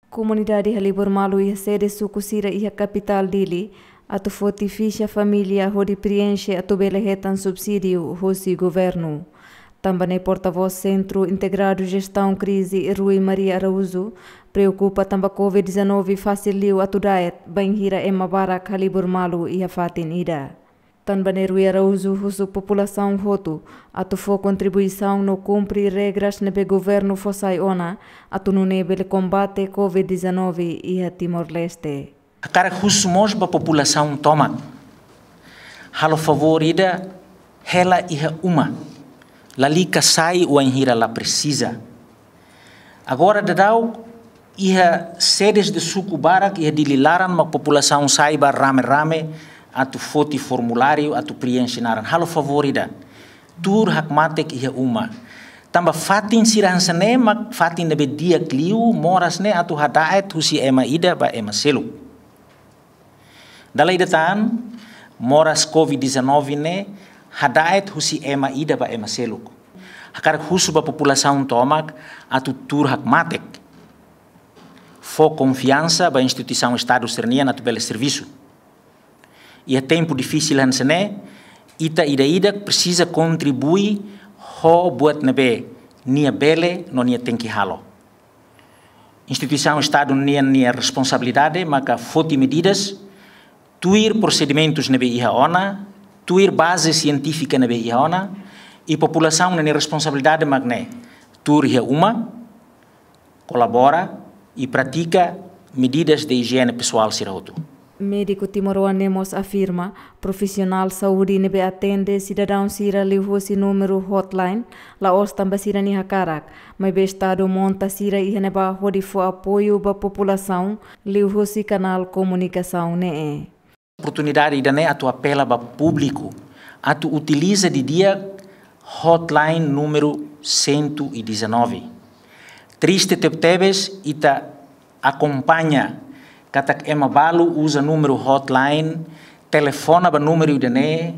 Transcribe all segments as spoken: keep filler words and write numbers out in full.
Komunidade halibur malu iha sede suku sira iha kapitál Dili atu foti fixa família hodi prienxe atu bele hetan subsídiu hosi governu. Tanba ne'e portavós Sentru Integradu Jestaun Krize, Rui Maria Araújo, preokupa tanba covid dezanove fasil liu atu da'et bainhira ema barak halibur malu iha fatin ida. Tanba ne'e Rui Araújo husu populasaun hotu atu fó kontribuisaun no kumpre regras ne'ebé governu fó sai ona, atu nune'e bele kombate covid dezanove iha Timor-Leste. Hakarak husu mós ba populasaun tomak. Halo favór ida, hela iha uma. Lalika sai wainhira la presiza. Agora daudaun iha sedes de suku barak iha Dili laran mak populasaun sai ba rame-rame atu foti formuláriu atu prienxe naran. Halo favór ida. Tuur hakmatek iha uma. Tanba fatin sira hanesan ne'e mak fatin ne'ebé di'ak liu moras ne'e atu hada'et husi ema ida ba ema seluk. Dala ida tan, moras covid dezanove ne'e hada'et husi ema ida ba ema seluk. Hakarak husu ba populasaun tomak atu tuur hakmatek. Fó konfiansa ba instituisaun Estadu sira-nian atu bele servisu. Iha tempu difisil hanesan ne'e, ita ida-idak presiza kontribui ho buat ne'ebé nia bele no nia tenke halo. Instituisaun Estadu nian nia responsabilidade maka foti medidas, tuir prosedimentus ne'ebé iha ona, tuir baze sientífika ne'ebé iha ona, i populasaun nia responsabilidade mak ne'e tuur iha uma, kolabora i pratika medidas de ijiene pesoál sira hotu. Médiku timoroan ne'e mós afirma, profisionál saúde ne'ebé atende sidadaun sira liuhusi númeru hotline, la'ós tanba sira-nia hakarak, maibé Estadu monta sira iha ne'ebá hodi fó apoiu ba populasaun liuhusi kanál komunikasaun ne'e. Oportunidade ida-ne'e atu apela ba públiku atu utiliza didi'ak hotline númeru cento e dezanove. Triste tebetebes ita akompaña katak ema balu uza númeru hotline, telefona ba númeru ida-ne'e,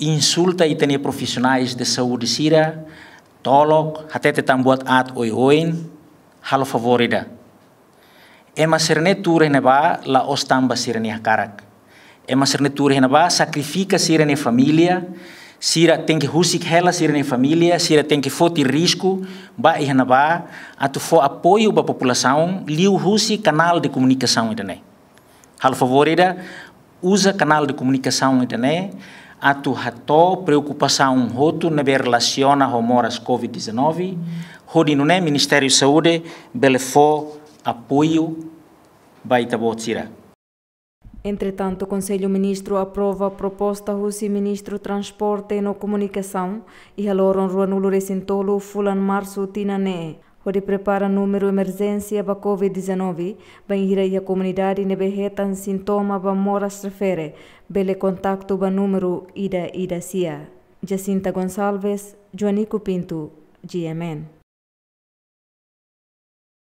insulta ita-nia profisionais de saúde sira, tolok, hatete tan buat aat oioin. Halo favór ida. Ema sira-ne'e tuur iha ne'ebá la'ós tanba sira-nia hakarak. Ema sira-ne'e tuur iha ne'ebá sakrifika sira-nia família, sira tenke husik hela sira-nia família, sira tenke foti risku ba iha ne'ebá atu fó apoiu ba populasaun liuhusi kanál de komunikasaun ida-ne'e. Halo favór ida, uza kanál de komunikasaun ida-ne'e atu hato'o preokupasaun hotu ne'ebé relasiona ho moras covid dezanove, hodi nune'e Ministériu Saúde bele fó apoiu ba ita-boot sira. Entretantu, Konsellu Ministru aprova proposta husi Ministru Transporte no Komunikasaun iha loron ruanulu-resin-tolu fulan Marsu tinan ne'e, hodi prepara númeru emerjénsia ba covid dezanove, bainhira iha komunidade ne'ebé hetan sintoma ba moras refere, bele kontaktu ba númeru ida ida sia. Jacinta Gonçalves, Joanico Pinto, G M N.